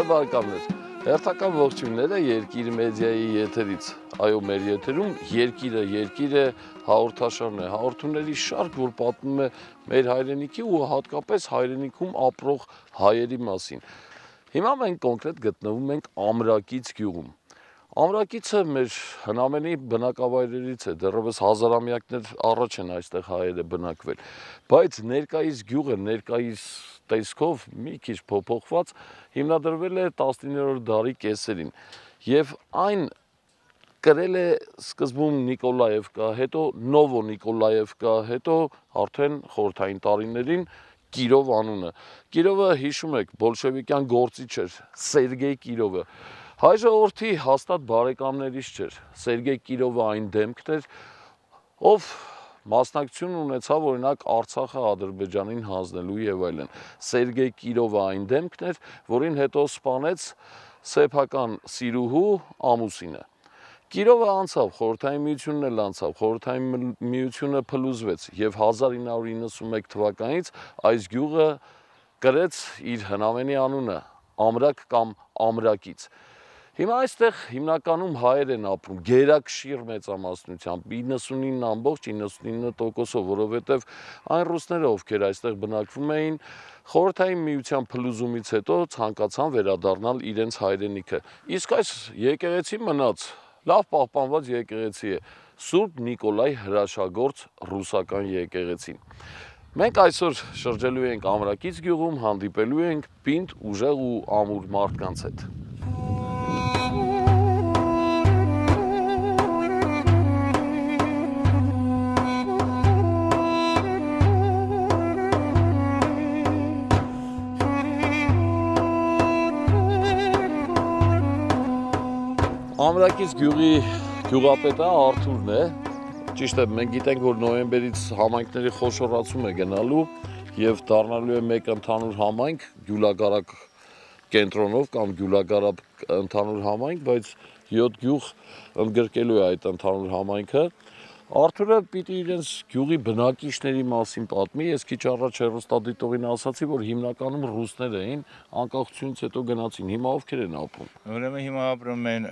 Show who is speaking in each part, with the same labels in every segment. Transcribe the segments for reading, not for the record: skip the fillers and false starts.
Speaker 1: բարեկամներ, հերթական ողջույնները Երկիր մեդիայի եթերից, այո մեր եթերում Երկիրը հաղորդաշարն է, հաղորդումների շարք, որ պատմում է մեր հայրենիքի ու հատկապես հայրենիքում ապրող հայերի մասին։ Հիմա մենք կոնկրետ գտնվում ենք Ամրակից գյուղում։ Ամրակիցը մեր հնամենի բնակավայրերից է, դեռևս հազարամյակներ առաջ են այստեղ հայերը բնակվել, բայց ներկայիս գյուղը, ներկայիս տեսքով մի քիչ փոփոխված հիմնադրվել է 19-րդ դարի կեսերին եւ այն կրել է սկզբում Նիկոլաևկա, հետո Նովո Նիկոլաևկա, հետո արդեն խորհրդային տարիներին Կիրով անունը։ Կիրովը հիշում եք, բոլշևիկյան գործիչ էր Սերգեյ Կիրովը։ Հայ ժողովրդի հաստատ բարեկամներից չէր։ Սերգեյ Կիրովը այն դեմքն էր, ով մասնակցություն ունեցավ օրինակ Արցախը Ադրբեջանին հանձնելու եւ այլն։ Սերգեյ Կիրովը այն դեմքն էր, որին հետո սպանեց սեփական սիրուհու ամուսինը։ Կիրովը անցավ, խորհրդային միությունն էլ անցավ, խորհրդային միությունը փլուզվեց եւ 1991 թվականից այս գյուղը կրեց իր հնամենի անունը՝ Ամրակ կամ Ամրակից։ Հիմա այստեղ հիմնականում հայեր են ապրում, գերակշիռ մեծամասնությամբ 99.99%-ով, որովհետև այն ռուսները, ովքեր այստեղ բնակվում էին, խորհրդային միության փլուզումից հետո ցանկացան վերադառնալ իրենց հայրենիքը։ Իսկ այս եկեղեցի մնաց, լավ պահպանված եկեղեցի է, Սուրբ Նիկոլայ հրաշագործ ռուսական եկեղեցին։ Մենք այսօր շրջելու ենք Ամրակից գյուղում, հանդիպելու ենք պինդ, ուժեղ ու ամուր մարդկանց հետ։ Ամրակից գյուղի գյուղապետը Արթուրն է, ճիշտ է, մենք գիտենք, որ նոյեմբերից համայնքների խոշորացում է գնալու եւ դառնալու է մեկ ընդհանուր համայնք, Գյուլագարակ կենտրոնով կամ Գյուլագարապ ընդհանուր համայնք, բայց 7 գյուղ ընդգրկելու է այդ ընդհանուր համայնքը։ Արթուրը պիտի իրենց գյուղի բնակիչների մասին պատմի, ես քիչ առաջ հեռուստադիտողին ասացի, որ հիմնականում ռուսներ էին, անկախությունից հետո գնացին, հիմա ովքեր են ապրում։
Speaker 2: Ուրեմն հիմա ապրում են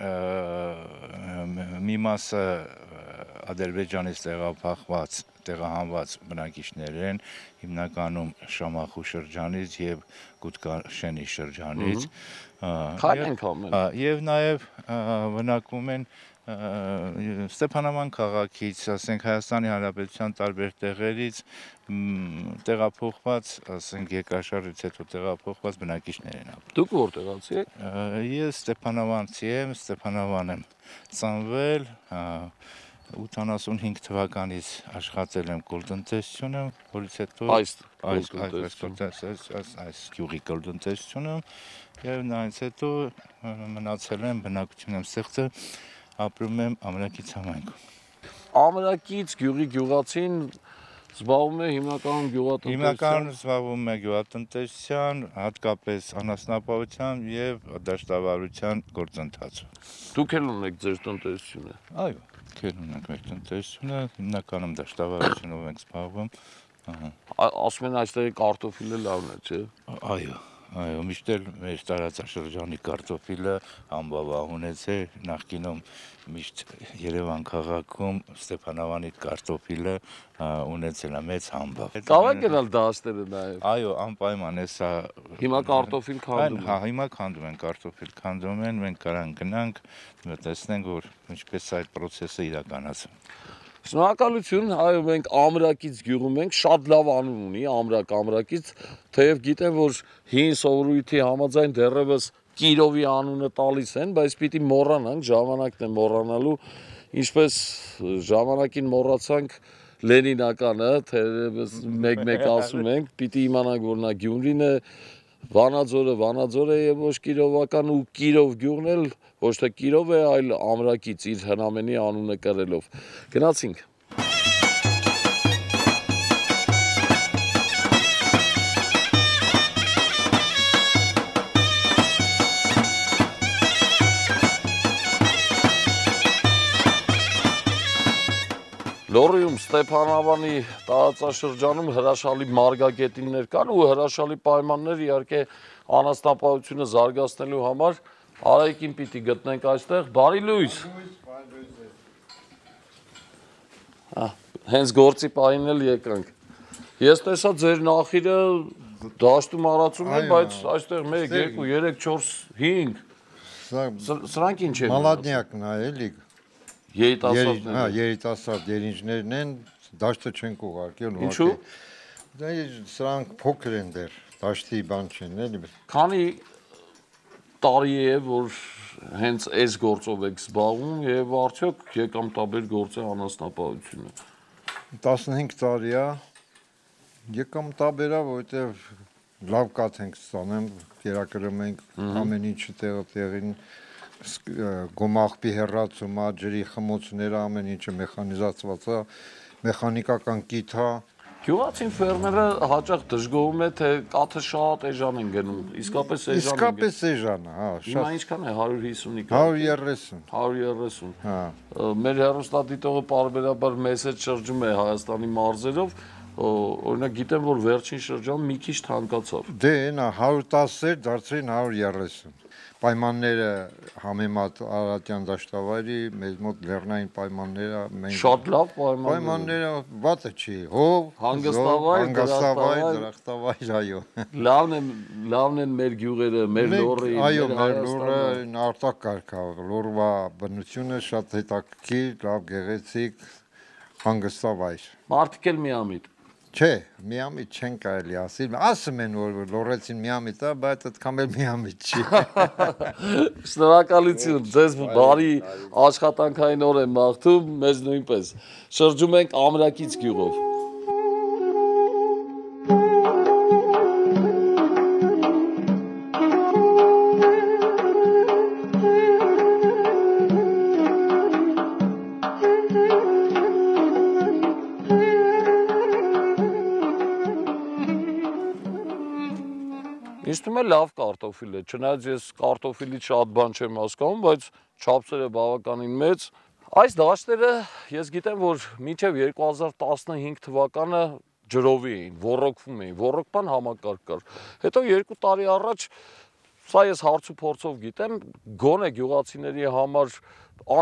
Speaker 2: մի մասը Ադրբեջանից տեղահանված բնակիչներ են, հիմնականում Շամախու շրջանից եւ Գուտկաշենի շրջանից։
Speaker 1: Քան ենք ամեն։
Speaker 2: Եվ նաեւ բնակվում են Ստեփանավան քաղաքից, ասենք Հայաստանի Հանրապետության տարբեր տեղերից տեղափոխված, ասենք երկրաշարժից հետո տեղափոխված բնակիչներ են ապրում։
Speaker 1: Դուք որտեղացի եք։
Speaker 2: Ես Ստեփանավանցի եմ, Ստեփանավան եմ ծնվել, 85 թվականից աշխատել եմ կոլտնտեսությունում, որից հետո այս գյուղի կոլտնտեսությունում եւ նայից հետո մնացել եմ, բնակություն եմ ստեղծել, ապրում եմ Ամրակից համայնքում։
Speaker 1: Ամրակից գյուղի գյուղացին զբաղվում է հիմնականում
Speaker 2: Հիմնականում զբաղվում է գյուղատնտեսության, հատկապես անասնապահությամբ եւ դաշտավարության գործընթացով։
Speaker 1: Դուք էլ ունեք ձեր տնտեսությունը։
Speaker 2: Այո, քեր ունենք մեր տնտեսությունը, հիմնականում դաշտավարությունով ենք զբաղվում։
Speaker 1: Ասում են այստեղ կարտոֆիլը լավն է, չէ՞։
Speaker 2: Այո, միշտ էլ մեր տարածաշրջանի կարտոֆիլը անբավահունեց է, նախկինում միշտ Երևան քաղաքում Ստեփանավանի կարտոֆիլը ունեցել է մեծ համբավ։
Speaker 1: Կարող գնալ դաշտերը նաև։
Speaker 2: Այո, անպայման է սա։
Speaker 1: Հիմա կարտոֆիլ քանդում են։
Speaker 2: Հա, հիմա քանդում են, կարտոֆիլ քանդում են, մենք կարան գնանք, տեսնենք, որ ինչպես այդ process-ը իրականացվում։
Speaker 1: Շնորհակալություն, այո, մենք Ամրակից գյուղում ենք, շատ լավ անուն ունի, Ամրակից, թեև գիտեմ, որ հին սովորույթի համաձայն դեռևս Կիրովի անունը տալիս են, բայց պիտի մոռանանք, ժամանակն է մոռանալու, ինչպես ժամանակին մոռացանք Լենինականը, թերևս մեկ-մեկ ասում ենք, պիտի իմանանք, որ նա Գյումրին է, Վանաձորը եւ ոչ Կիրովական ու Կիրով գյուղն էլ ոչ թե Կիրով է, այլ Ամրակից իր հնամենի անունը կրելով։ Գնացինք։ Լոռիում Ստեփանավանի տարածաշրջանում հրաշալի մարգագետիններ կան ու հրաշալի պայմաններ իհարկե անասնապահությունը զարգացնելու համար Արայիկին պիտի գտնենք այստեղ։ Բարի լույս։ Հենց գործի պահին էլ եկանք։ Ես տեսա ձեր նախիրը դաշտում արածում են, բայց այստեղ 1, 2, 3, 4, 5 սրանք ինչ են։
Speaker 3: Մալադնյակն է, էլի։
Speaker 1: Երիտասարդներ։
Speaker 3: Երիտասարդ երինջներն են, դաշտը չենք ուղարկել։
Speaker 1: Ինչու՞։
Speaker 3: Սրանք փոքր են դեռ, դաշտի բան չեն, էլի։
Speaker 1: Քանի տարի է, որ հենց այս գործով եք զբաղվում եւ արդյոք եկամտաբեր գործ է անասնապահությունը։
Speaker 3: 15 տարի է, եկամտաբեր է, որովհետև լավ կաթ ենք ստանում, կերակրում ենք ամեն ինչը տեղին, գոմաղբի հեռացումը, ջրի խմոցները, ամեն ինչը մեխանիզացված է, մեխանիկական կիթ է։
Speaker 1: Գյուղացին ֆերմերը հաճախ դժգոհում է, թե կաթը շատ էժան են գնում, իսկապես էժան են։
Speaker 3: Իսկապես էժան է, հա,
Speaker 1: Հիմա ինչքան է 150-ի
Speaker 3: 130։
Speaker 1: 130։
Speaker 3: Հա։
Speaker 1: Մեր հեռուստադիտողը պարբերաբար մեզ հետ շրջում է Հայաստանի մարզերով, օրինակ գիտեմ, որ վերջին շրջանում մի քիչ թանկացավ։
Speaker 3: Դե նա 110-էր դարձրին 130։ Պայմանները համեմատ Արարատյան դաշտավայրի մեզ մոտ լեռնային պայմանները մենք
Speaker 1: Շատ լավ
Speaker 3: պայմանները վատը չի, հով, հանգստավայր, դրախտավայր, այո։
Speaker 1: Լավն են մեր գյուղերը, մեր լոռը,
Speaker 3: այո, մեր լոռը արտակարգ է, լոռվա բնությունը շատ հետաքրքիր, լավ գեղեցիկ, հանգստավայր։
Speaker 1: Մարդիկ էլ միամիտ։
Speaker 3: Չէ, միամիտ չեն կարելի ասել, ասում են, որ լոռեցին միամիտ է, բայց այդքան էլ միամիտ չի։
Speaker 1: Շնորհակալություն, ձեզ բարի աշխատանքային օր եմ մաղթում, մեզ նույնպես։ Շրջում ենք Ամրակից գյուղով։ Ինձ թվում է լավ կարտոֆիլ է, չնայած ես կարտոֆիլից շատ բան չեմ հասկանում, բայց չափսերը բավականին մեծ։ Այս դաշտերը ես գիտեմ, որ մինչև 2015 թվականը ջրովի էին, ոռոգվում էին, ոռոգման համակարգ կար։ Հետո 2 տարի առաջ, սա ես հարց ու փորձով գիտեմ, գոնե գյուղացիների համար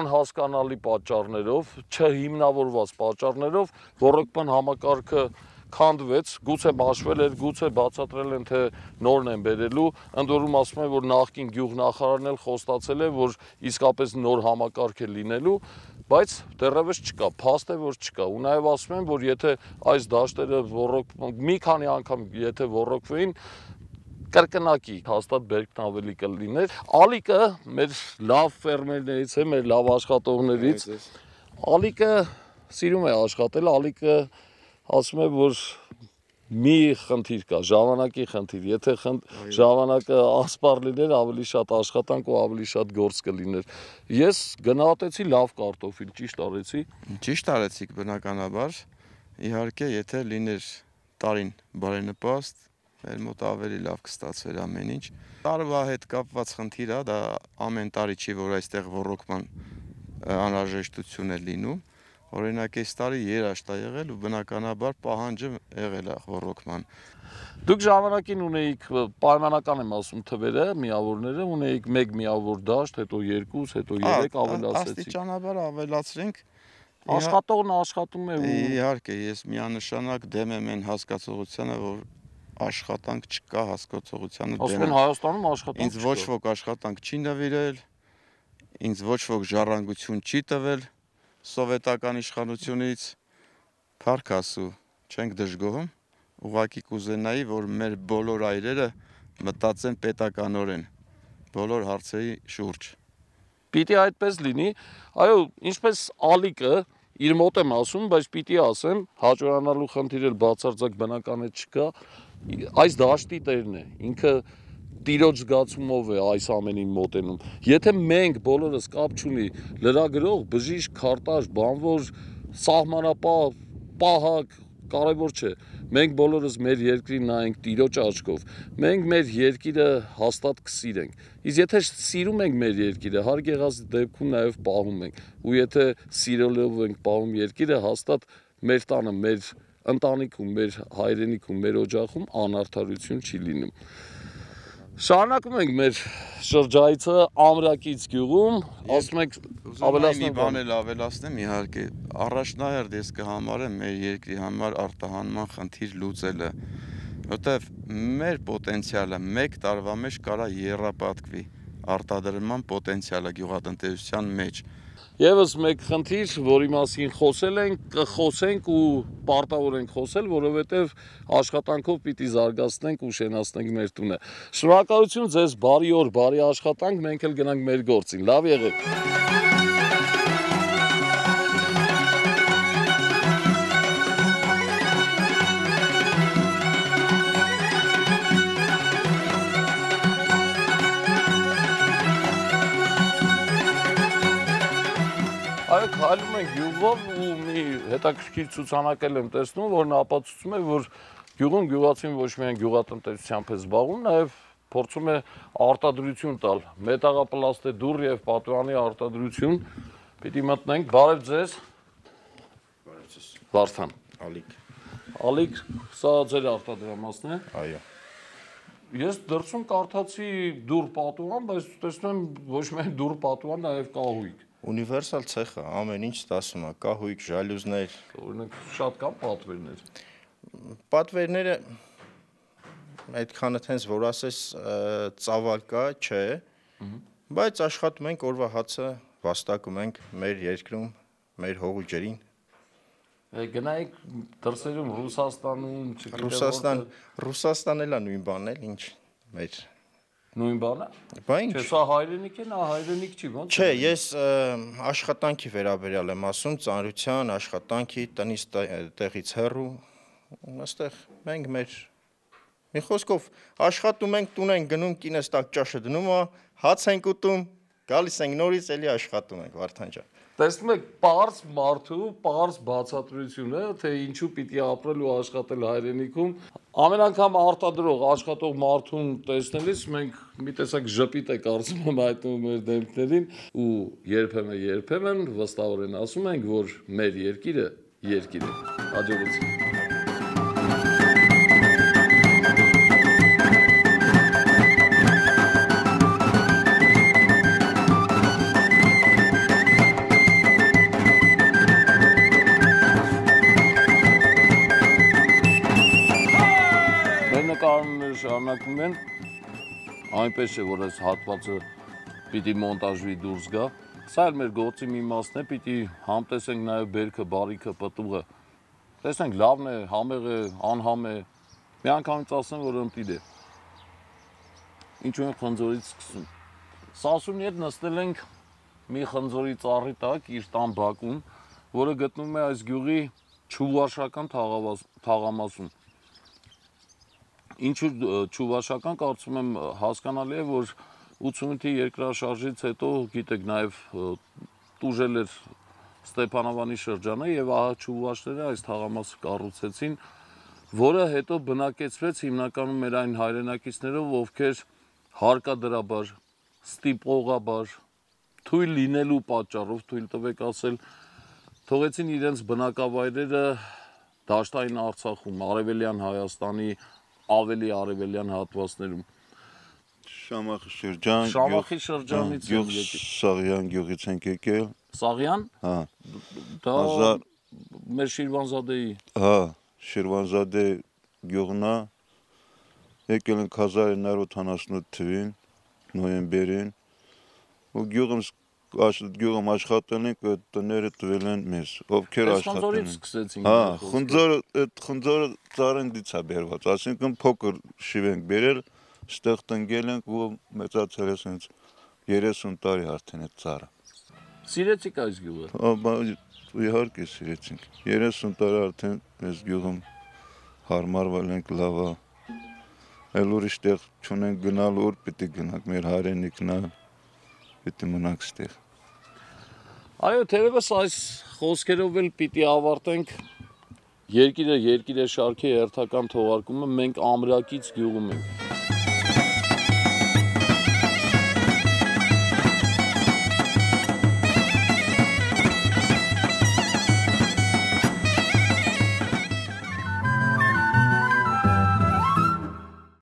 Speaker 1: անհասկանալի պատճառներով, չհիմնավորված պատճառներով ոռոգման համակարգը քանդվեց, գուցե մաշվել էր, գուցե բացատրել են, թե նորն են բերելու, ընդ որում ասում են, որ նախկին գյուղնախարարն էլ խոստացել է, որ իսկապես նոր համակարգ է լինելու, բայց դեռևս չկա, փաստ է, որ չկա, ու նաև ասում են, որ եթե այս դաշտերը մի քանի անգամ եթե ոռոգվեին, կրկնակի հաստատ բերքն ավելի կլիներ։ Ալիկը մեր լավ ֆերմերներից է, մեր լավ աշխատողներից, Ալիկը սիրում է աշխատել, Ալիկը ասում է, որ մի խնդիր կա, ժամանակի խնդիր, եթե ժամանակը ասպար լիներ, ավելի շատ աշխատանք ու ավելի շատ գործ կլիներ։ Ես գնահատեցի լավ կարտոֆիլ, ճիշտ արեցի։
Speaker 4: Ճիշտ արեցիք բնականաբար, իհարկե, եթե լիներ տարին բարենպաստ, մեր մոտ ավելի լավ կստացվեր ամեն ինչ։ Տարվա հետ կապված խնդիր է, դա ամեն տարի չի, որ այստեղ ոռոգման անհրաժեշտություն է լինում։ Օրինակ այս տարի երաշտ է եղել ու բնականաբար պահանջը եղել է ոռոգման։
Speaker 1: Դուք ժամանակին ունեիք, պայմանական եմ ասում թվերը, միավորները, ունեիք 1 միավոր դաշտ, հետո 2, հետո 3 ավելացրեցիք։
Speaker 4: Աստիճանաբար ավելացրինք։
Speaker 1: Աշխատողն աշխատում է ու
Speaker 4: իհարկե ես միանշանակ դեմ եմ այն հասկացողությանը, որ աշխատանք չկա հասկացողությանը դեմ։
Speaker 1: ասում են Հայաստանում աշխատանք
Speaker 4: Ինձ ոչ ոք աշխատանք չի նվիրել, ինձ ոչ ոք ժառանգություն չի տվել սովետական իշխանությունից, փառք Աստծո, չենք դժգոհում, ուղղակի կուզենայի, որ մեր բոլոր այրերը մտածեն պետականորեն, բոլոր հարցերի շուրջ։
Speaker 1: Պիտի այդպես լինի, այո, ինչպես Ալիկը, իր մոտ եմ ասում, բայց պիտի ասեմ, հաջողանալու խնդիր էլ բացարձակ բնական է չկա, այս դաշտի տերն է, ինքը տիրոջ զգացումով է այս ամենին մոտենում։ Եթե մենք բոլորս կապ չունի լրագրող, բժիշկ, քարտաշ, բանվոր, սահմանապահ, պահակ, կարևոր չէ։ մենք բոլորս մեր երկրին նայենք Տիրոջ աչքով, մենք մեր երկիրը հաստատ կսիրենք։ Իսկ եթե սիրում ենք մեր երկիրը, հարկ եղած դեպքում նաև պահում ենք։ Ու եթե սիրելով ենք պահում երկիրը, հաստատ մեր տանը, մեր ընտանիքում, մեր հայրենիքում, մեր օջախում անարդարություն չի լինում։ Շարունակում ենք մեր շրջայցը Ամրակից գյուղում, ասում ենք
Speaker 4: Ավելացնի բան էլ ավելացնեմ իհարկե առաջնահերթ ես կհամարեմ մեր երկրի համար արտահանման խնդիր լուծելը, որտեվ մեր պոտենցիալը 1 տարվա մեջ կարա եռապատկվի արտադրման պոտենցիալը գյուղատնտեսության մեջ։
Speaker 1: Եվս մեկ խնդիր, որի մասին խոսել ենք, կխոսենք ու պարտավոր ենք խոսել, որովհետև աշխատանքով պիտի զարգացնենք ու շենացնենք մեր տունը։ Շնորհակալություն ձեզ, բարի օր, բարի աշխատանք, մենք էլ գնանք մեր գործին։ Լավ եղեք։ Քայլում ենք գյուղով ու մի հետաքրքիր ցուցանակել եմ տեսնում, որն ապացուցում է, որ գյուղում գյուղացին ոչ միայն գյուղատնտեսությամբ է զբաղվում, նաև փորձում է արտադրություն տալ, մետաղապլաստե դուռ եւ պատուանի արտադրություն։ Պիտի մտնենք, բարև ձեզ։
Speaker 2: Բարև ձեզ։
Speaker 1: Վարդան։
Speaker 2: Ալիկ։
Speaker 1: Ալիկ, սա ձեր արտադրամասն է։
Speaker 2: Այո։
Speaker 1: Ես դրսում կարդացի դուռ պատուան, բայց տեսնում եմ ոչ միայն դուռ պատուան, նաև կահույք։
Speaker 2: Ունիվերսալ ցեխը ամեն ինչ ստասում է, կահույք, ժալյուզներ։
Speaker 1: Օրինակ շատ կան պատվերներ։
Speaker 2: Պատվերները այդքանը տենց որ ասես ծավալ կա, չէ, բայց աշխատում ենք օրվա հացը վաստակում ենք մեր երկրում, մեր հողու ջրին։
Speaker 1: Գնայիք դրսերում Ռուսաստանում,
Speaker 2: Ռուսաստան, Ռուսաստանն էլ է նույն բանն էլ, ինչ մեր
Speaker 1: նույն բանը։
Speaker 2: Բա ինչ։
Speaker 1: Չէ, սա հայրենիք է, նա հայրենիք չի, ո՞նց։
Speaker 2: Չէ, ես աշխատանքի վերաբերյալ եմ ասում, ծանրության, աշխատանքի, տնից տեղից հեռու, այստեղ մենք մեր մի խոսքով աշխատում ենք, տուն ենք գնում, կինս տակ ճաշը դնում է, հաց ենք ուտում, գալիս ենք նորից էլի աշխատում ենք, Վարդան ջան։
Speaker 1: Տեսնում եք պարզ մարդու, պարզ բացատրությունը, թե ինչու պիտի ապրել ու աշխատել հայրենիքում։ Ամեն անգամ արտադրող, աշխատող մարդուն տեսնելիս մենք մի տեսակ ժպիտ է կարծում եմ հայտնում մեր դեմքներին ու երբեմն վստահորեն ասում ենք, որ մեր երկիրը երկիր է։ Հաջողություն։ Նկարները շարունակվում են, այնպես չէ, որ այս հատվածը պիտի մոնտաժվի դուրս գա, սա էլ մեր գործի մի մասն է, պիտի համտեսենք նաև բերքը, բարիքը, պտուղը, տեսնենք լավն է, համեղ է, անհամ է, մի անգամից ասեմ, որ ըմպիր է, ինչու են խնձորից սկսում, Սասունի հետ նստել ենք մի խնձորի ծառի տակ, իր տան բակում, որը գտնվում է այս գյուղի Չուվաշական թաղամասում, Ինչու Չուվաշական, կարծում եմ հասկանալի է, որ 88-ի երկրաշարժից հետո, գիտեք, նաև տուժել էր Ստեփանավանի շրջանը եւ ահա Չուվաշները այս թաղամասը կառուցեցին, որը հետո բնակեցվեց հիմնականում մեր այն հայրենակիցներով, ովքեր հարկադրաբար, ստիպողաբար, թույլ լինելու պատճառով, թույլ տվեք ասել, թողեցին իրենց բնակավայրերը դաշտային Արցախում, Արևելյան Հայաստանի ավելի արևելյան հատվածներում։
Speaker 5: Շամախի շրջան,
Speaker 1: Շամախի շրջանից
Speaker 5: գյուղ Սաղյան գյուղից ենք եկել։
Speaker 1: Սաղյան։
Speaker 5: Հա։
Speaker 1: Դա մեր Շիրվանզադեի։
Speaker 5: Հա, Շիրվանզադե գյուղն է։ Եկել ենք 1978 թվականին, նոյեմբերին։ Ու գյուղում աշխատել ենք, այդ տները տվել են մեզ, ովքեր աշխատել են։
Speaker 1: Սկսեցին։
Speaker 5: Հա, խնձորը ծառնդից է բերված, այսինքն փոքր շիվ ենք բերել, ստեղ տնկել ենք ու մեծացել է սենց 30 տարի արդեն այդ ծառը։
Speaker 1: Սիրեցիք այս գյուղը։
Speaker 5: Իհարկե սիրեցինք։ 30 տարի արդեն այս գյուղում հարմարվել ենք, լավ է։ Էլ ուրիշ տեղ չունենք գնալ, ուր պիտի գնանք, մեր հայրենիքն է, պիտի մնանք ստեղ։
Speaker 1: Այո, թերևս այս խոսքերով էլ պիտի ավարտենք Երկիրը շարքի հերթական թողարկումը մենք ամրակից գյուղում ենք։